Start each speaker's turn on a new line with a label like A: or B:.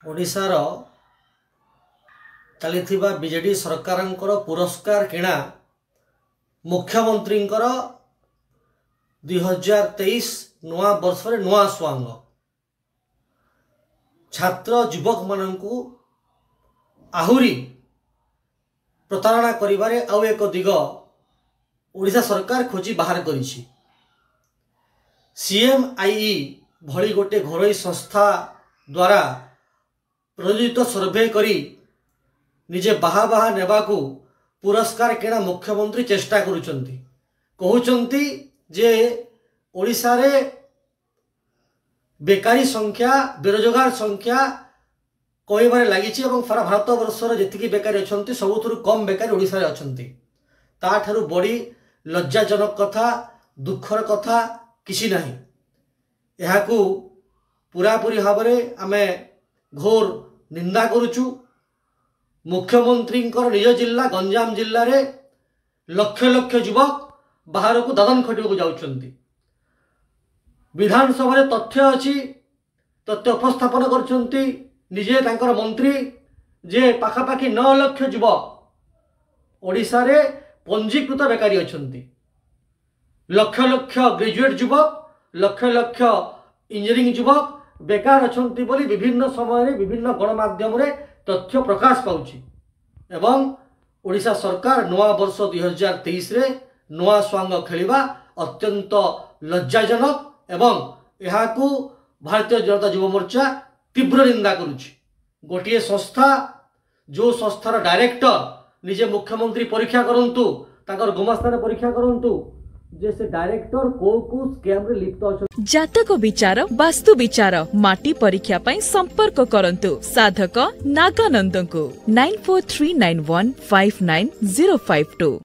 A: ଓଡ଼ିଶାର ଚାଲିଥିବା ବିଜେଡ଼ି ସରକାରଙ୍କର ପୁରସ୍କାର କିଣା ମୁଖ୍ୟମନ୍ତ୍ରୀଙ୍କର 2023 ନୂଆ ବର୍ଷରେ ନୂଆ ସୁଆଙ୍ଗ ଛାତ୍ର ଯୁବକମାନଙ୍କୁ ଆହୁରି ପ୍ରତାରଣା କରିବାରେ ଆଉ ଏକ ଦିଗ ଓଡ଼ିଶା ସରକାର ଖୋଜି ବାହାର କରିଛି। ସିଏମ୍ଆଇଇ ଭଳି ଗୋଟେ ଘରୋଇ ସଂସ୍ଥା ଦ୍ୱାରା ପ୍ରଯୋଜିତ ସର୍ଭେ କରି ନିଜେ ବାହା ବାହା ନେବାକୁ ପୁରସ୍କାର କିଣା ମୁଖ୍ୟମନ୍ତ୍ରୀ ଚେଷ୍ଟା କରୁଛନ୍ତି। କହୁଛନ୍ତି ଯେ ଓଡ଼ିଶାରେ ବେକାରୀ ସଂଖ୍ୟା, ବେରୋଜଗାର ସଂଖ୍ୟା କମିବାରେ ଲାଗିଛି ଏବଂ ସାରା ଭାରତବର୍ଷର ଯେତିକି ବେକାରୀ ଅଛନ୍ତି ସବୁଥିରୁ କମ୍ ବେକାରୀ ଓଡ଼ିଶାରେ ଅଛନ୍ତି। ତାଠାରୁ ବଡ଼ି ଲଜ୍ଜାଜନକ କଥା, ଦୁଃଖର କଥା କିଛି ନାହିଁ। ଏହାକୁ ପୁରାପୁରି ଭାବରେ ଆମେ ଘୋର ନିନ୍ଦା କରୁଛୁ। ମୁଖ୍ୟମନ୍ତ୍ରୀଙ୍କର ନିଜ ଜିଲ୍ଲା ଗଞ୍ଜାମ ଜିଲ୍ଲାରେ ଲକ୍ଷ ଲକ୍ଷ ଯୁବକ ବାହାରକୁ ଦାଦନ ଖଟିବାକୁ ଯାଉଛନ୍ତି। ବିଧାନସଭାରେ ତଥ୍ୟ ଅଛି, ତଥ୍ୟ ଉପସ୍ଥାପନ କରୁଛନ୍ତି ନିଜେ ତାଙ୍କର ମନ୍ତ୍ରୀ ଯେ ପାଖାପାଖି 9 ଲକ୍ଷ ଯୁବକ ଓଡ଼ିଶାରେ ପଞ୍ଜୀକୃତ ବେକାରୀ ଅଛନ୍ତି। ଲକ୍ଷ ଲକ୍ଷ ଗ୍ରାଜୁଏଟ୍ ଯୁବକ, ଲକ୍ଷ ଲକ୍ଷ ଇଞ୍ଜିନିୟରିଂ ଯୁବକ ବେକାର ଅଛନ୍ତି ବୋଲି ବିଭିନ୍ନ ସମୟରେ ବିଭିନ୍ନ ଗଣମାଧ୍ୟମରେ ତଥ୍ୟ ପ୍ରକାଶ ପାଉଛି। ଏବଂ ଓଡ଼ିଶା ସରକାର ନୂଆ ବର୍ଷ 2023ରେ ନୂଆ ସ୍ୱାଙ୍ଗ ଖେଳିବା ଅତ୍ୟନ୍ତ ଲଜ୍ଜାଜନକ ଏବଂ ଏହାକୁ ଭାରତୀୟ ଜନତା ଯୁବ ମୋର୍ଚ୍ଚା ତୀବ୍ର ନିନ୍ଦା କରୁଛି। ଗୋଟିଏ ସଂସ୍ଥା, ଯେଉଁ ସଂସ୍ଥାର ଡାଇରେକ୍ଟର ନିଜେ ମୁଖ୍ୟମନ୍ତ୍ରୀ ପରୀକ୍ଷା କରନ୍ତୁ, ତାଙ୍କର ଗୁମାସ୍ତାରେ ପରୀକ୍ଷା କରନ୍ତୁ ଯେ ସେ ଡାଇରେକ୍ଟର କୋଉ କୋଉ ସ୍କାମରେ ଲିପ୍ତ ଅଛନ୍ତି।
B: ଜାତକ ବିଚାର, ବାସ୍ତୁ ବିଚାର, ମାଟି ପରୀକ୍ଷା ପାଇଁ ସମ୍ପର୍କ କରନ୍ତୁ ସାଧକ ନାଗାନନ୍ଦଙ୍କୁ 9439159052।